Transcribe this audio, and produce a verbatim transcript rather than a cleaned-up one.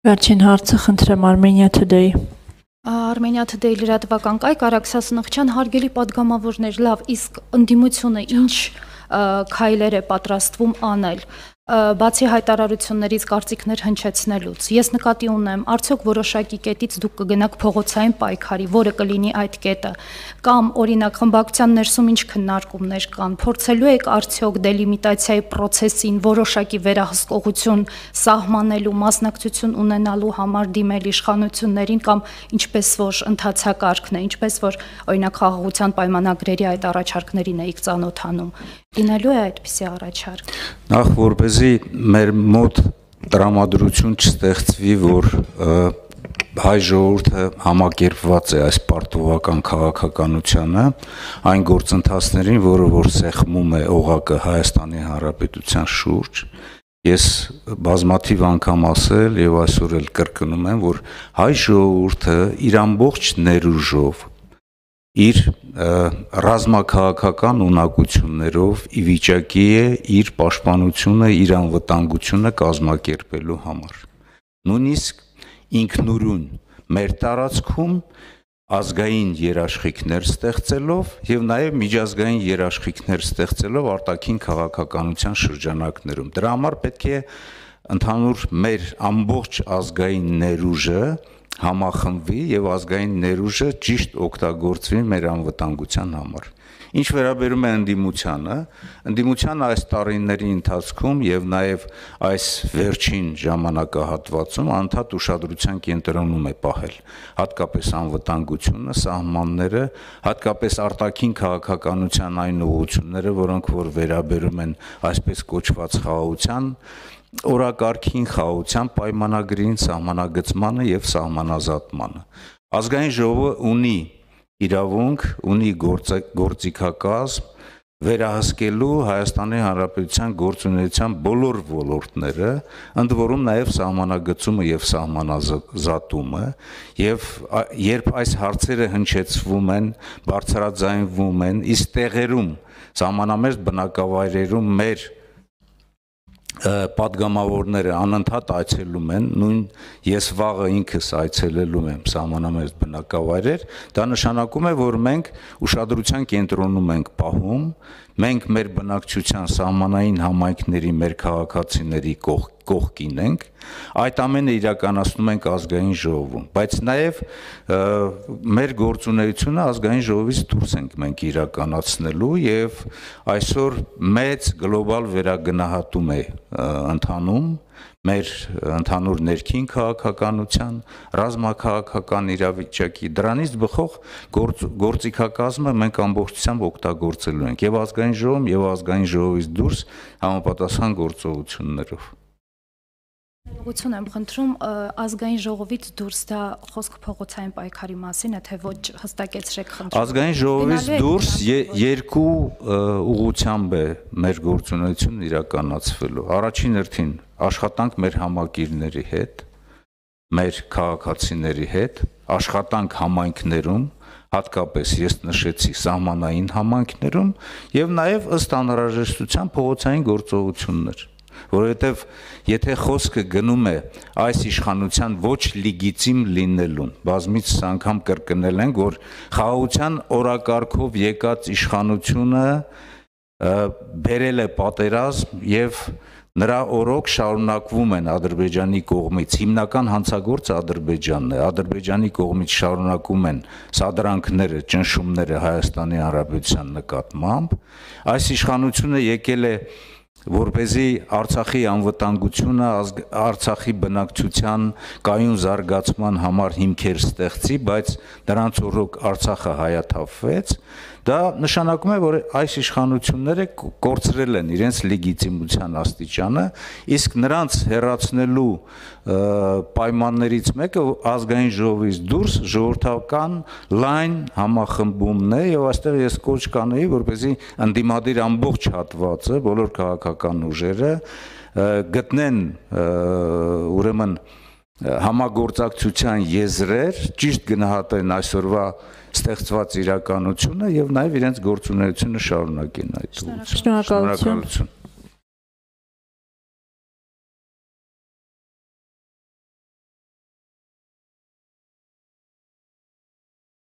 Վերջին հարցը խնդրեմ Armenia Today. Armenia Today լրատվական կայք Արաքսա Սնխչյան, հարգելի պատգամավորներ, լավ, իսկ ընդդիմությունը ինչ քայլեր է պատրաստվում անել, բացի հայտարարություններից կարծիքներ հնչեցնելուց։ Ես նկատի ունեմ, արդյոք որոշակի կետից դուք կգնաք փողոցային պայքարի, որը կլինի այդ կետը, կամ օրինակ խմբակցության ներսում ինչ քննարկումներ կան, փորձելու եք արդյոք դելիմիտացիայի process-ին որոշակի վերահսկողություն սահմանելու, մասնակցություն ունենալու համար դիմել իշխանություններին, կամ ինչպես որ ընթացակարգն է, ինչպես որ օրինակ խաղաղության պայմանագրերի այդ առաջարկներին էիք ծանոթանում, լինելու է այդպիսի առաջարկ։ Նախ որպեսզի մեր մոտ տրամադրություն չստեղծվի, որ հայ ժողովուրդը համակերպված է այս պարտավորական քաղաքականությանը, այն գործընթացներին, որը որ սեղմում է օղակը Հայաստանի Հանրապետության շուրջ, ես բազմաթիվ անգամ ասել եւ այսօր էլ կրկնում եմ, որ հայ ժողովուրդը իր ամբողջ ներուժով իր ռազմաքաղաքական ունակություններով ի վիճակի է իր պաշտպանությունը, իր անվտանգությունը կազմակերպելու համար։ Նույնիսկ ինքնուրույն մեր տարածքում ազգային երաշխիքներ ստեղծելով եւ նաեւ միջազգային երաշխիքներ ստեղծելով արտաքին քաղաքականության շրջանակներում։ Դրա համար պետք է ընդհանուր մեր ամբողջ ազգային ներուժը համախմբվի եւ ազգային ներուժը ճիշտ օգտագործվի մեր անվտանգության համար։ Ինչ վերաբերում է ընդդիմությանը, ընդդիմությանը այս տարիների ընթացքում եւ նաեւ այս վերջին ժամանակահատվածում անդադ ուշադրության կենտրոնում է պահել հատկապես անվտանգությունը, սահմանները, հատկապես արտաքին քաղաքականության այն ուղղությունները, որոնք որ վերաբերում են այսպես կոչված խաղաղության օրակարգին, խաղաղության պայմանագրին, սահմանագծմանը եւ սահմանազատմանը։ Ազգային ժողովը ունի իրավունք, ունի գործիքակազմ վերահսկելու Հայաստանի Հանրապետության գործունեության բոլոր ոլորտները, ընդ որում նաեւ սահմանագծումը եւ սահմանազատումը, եւ երբ այս հարցերը հնչեցվում են, բարձրաձայնվում են, իսկ տեղերում սահմանամերձ բնակավայրերում մեր պատգամավորները անընդհատ այցելում են, նույն ես վաղը ինքս այցելելու եմ սահմանամերձ բնակավայրեր, դա նշանակում է, որ մենք ուշադրության կենտրոնում ենք պահում, մենք մեր բնակչության սահմանային համայնքների, մեր քաղաքացիների կողքին ենք, այդ ամենը իրականացնում ենք ազգային ժողովում, բայց նաեւ մեր գործունեությունը ազգային ժողովից դուրս ենք մենք իրականացնելու եւ այսօր մեծ գլոբալ վերագնահատում է ընթանում մեր ընդհանուր ներքին քաղաքականության, ռազմաքաղաքական իրավիճակի, դրանից բխող գործիքակազմը մենք ամբողջությամբ օգտագործելու ենք եւ ազգային ժողովում եւ ազգային ժողովից դուրս համապատասխան գործողություններով։ Ուղղություն եմ խնդրում ազգային ժողովից դուրս դա խոսք փողոցային պայքարի մասին է, թե ոչ հստակեցրեք խնդրում։ Ազգային ժողովից դուրս երկու ուղղությամբ է մեր գործունեությունն իրականացվելու։ Առաջին հերթին աշխատանք մեր համակիրների հետ, մեր քաղաքացիների հետ, աշխատանք համայնքներում, հատկապես ես նշեցի սահմանային համայնքներում եւ նաեւ ըստ անհրաժեշտության փողոցային գործողություններ, որովհետեւ եթե խոսքը գնում է այս իշխանության ոչ լեգիտիմ լինելուն, բազմիցս անգամ կրկնել ենք, որ խաղաղության օրակարգով եկած իշխանությունը բերել է պատերազմ եւ նրա օրոք շարունակվում են Ադրբեջանի կողմից, հիմնական հանցագործը Ադրբեջանն է, Ադրբեջանի կողմից շարունակում են սադրանքները, ճնշումները Հայաստանի Հանրապետության նկատմամբ, այս իշխանությունը եկել է որպեսզի Արցախի անվտանգությունը, Արցախի բնակչության կայուն զարգացման համար հիմքեր ստեղծի, բայց դրանց օրոք Արցախը հայաթափվեց, դա նշանակում է, որ այս իշխանությունները կորցրել են իրենց լեգիտիմության աստիճանը, իսկ նրանց հեռացնելու պայմաններից մեկը ազգային ժողովից դուրս ժողովրդական լայն համախմբումն է եւ այստեղ ես կոչ կանեի, որպեսզի ընդդիմադիր ամբողջ հատվածը, բոլոր քաղաքական ուժերը գտնեն ուրեմն համագործակցության եզրեր, ճիշտ գնահատեն այսօրվա ստեղծված իրականությունը եւ նաեւ իրենց գործունեությունը շարունակեն այդ ուղղությամբ։ Շնորհակալություն։